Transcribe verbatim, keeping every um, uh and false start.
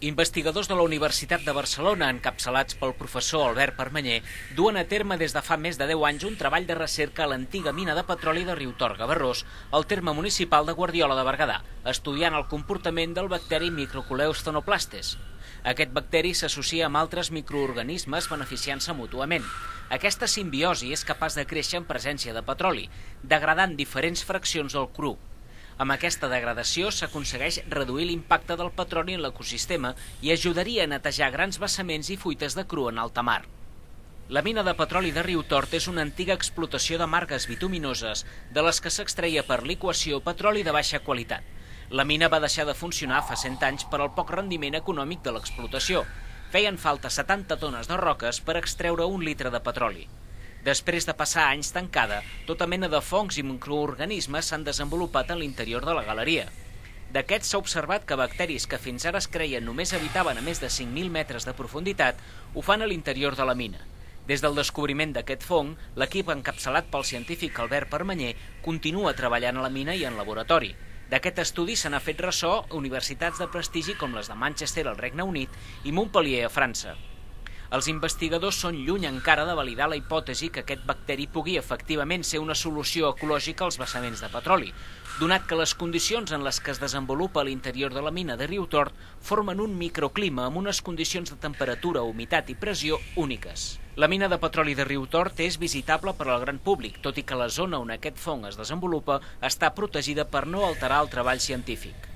Investigadors de la Universitat de Barcelona, encapçalats pel professor Albert Permanyer, duen a terme des de fa més de deu anys un treball de recerca a l'antiga mina de petroli de Riutort-Gavarrós, al terme municipal de Guardiola de Berguedà, estudiant el comportament del bacteri Microcoleus tonoplastes. Aquest bacteri s'associa amb altres microorganismes beneficiant-se mútuament. Aquesta simbiosi és capaç de créixer en presència de petroli, degradant diferents fraccions del cru. Amb aquesta degradació s'aconsegueix reduir l'impacte del petroli en l'ecosistema i ajudaria a netejar grans vessaments i fuites de cru en alta mar. La mina de petroli de Riutort és una antiga explotació de margues bituminoses de les que s'extreia per liquació petroli de baixa qualitat. La mina va deixar de funcionar fa cent anys per al poc rendiment econòmic de l'explotació. Feien falta setanta tones de roques per extreure un litre de petroli. Després de passar anys tancada, tota mena de fongs i microorganismes s'han desenvolupat a l'interior de la galeria. D'aquests s'ha observat que bacteris que fins ara es creien només habitaven a més de cinc mil metres de profunditat ho fan a l'interior de la mina. Des del descobriment d'aquest fong, l'equip encapçalat pel científic Albert Permanyer continua treballant a la mina i en laboratori. D'aquest estudi se n'ha fet ressò universitats de prestigi com les de Manchester al Regne Unit i Montpellier a França. Els investigadors són lluny encara de validar la hipòtesi que aquest bacteri pugui efectivament ser una solució ecològica als vessaments de petroli, donat que les condicions en les que es desenvolupa a l'interior de la mina de Riutort formen un microclima amb unes condicions de temperatura, humitat i pressió úniques. La mina de petroli de Riutort és visitable per al gran públic, tot i que la zona on aquest fong es desenvolupa està protegida per no alterar el treball científic.